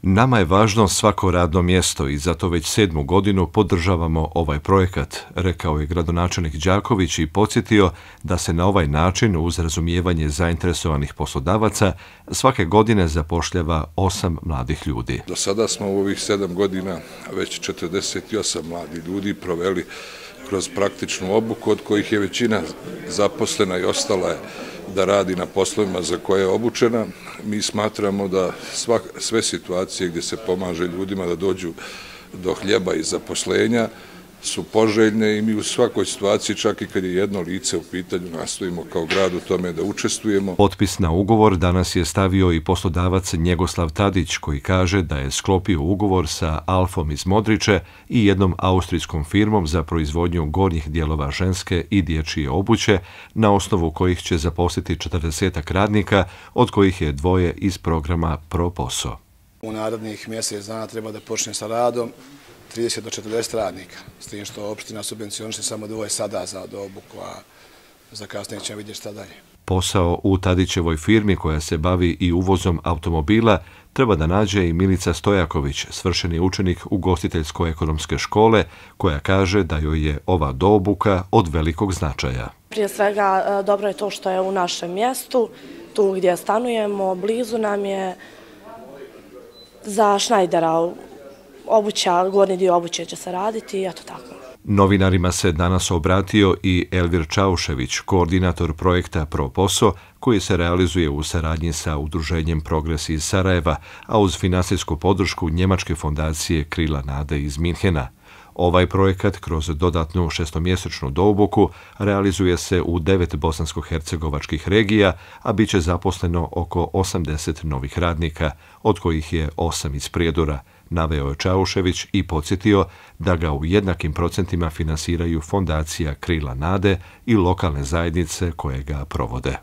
Nama je važno svako radno mjesto i zato već 7. godinu podržavamo ovaj projekat, rekao je gradonačelnik Đaković i podsjetio da se na ovaj način, uz razumijevanje zainteresovanih poslodavaca, svake godine zapošljava 8 mladih ljudi. Do sada smo u ovih 7 godina već 48 mladih ljudi proveli kroz praktičnu obuku, od kojih je većina zaposlena i ostala je da radi na poslovima za koje je obučena. Mi smatramo da sve situacije gdje se pomaže ljudima da dođu do hljeba i zaposlenja su poželjne i mi u svakoj situaciji, čak i kad je jedno lice u pitanju, nastojimo kao grad u tome da učestvujemo. Potpis na ugovor danas je stavio i poslodavac Njegoslav Tadić, koji kaže da je sklopio ugovor sa Alfom iz Modriče i jednom austrijskom firmom za proizvodnju gornjih dijelova ženske i dječje obuće, na osnovu kojih će zaposliti 40 radnika, od kojih je 2 iz programa ProPoso. U narednih mjesec dana treba da počne sa radom 30 do 40 radnika, s tim što opština subvencioniše samo 2 sada za obuku, a za kasnije ćemo vidjeti šta dalje. Posao u Tadićevoj firmi, koja se bavi i uvozom automobila, treba da nađe i Milica Stojaković, svršeni učenik ugostiteljsko-ekonomske škole, koja kaže da joj je ova doobuka od velikog značaja. Prije svega, dobro je to što je u našem mjestu, tu gdje stanujemo, blizu nam je. Za Šnajdera obuća, gornji dio obuće će se raditi i eto tako. Novinarima se danas obratio i Elvir Čaušević, koordinator projekta ProPoso, koji se realizuje u saradnji sa Udruženjem Progres iz Sarajeva, a uz finansijsku podršku njemačke fondacije Krila nade iz Minhena. Ovaj projekat kroz dodatnu 6-mjesečnu doobuku realizuje se u 9 bosansko-hercegovačkih regija, a bit će zaposleno oko 80 novih radnika, od kojih je 8 iz Prijedora, naveo je Čaušević i podsjetio da ga u jednakim procentima finansiraju fondacija Krila nade i lokalne zajednice koje ga provode.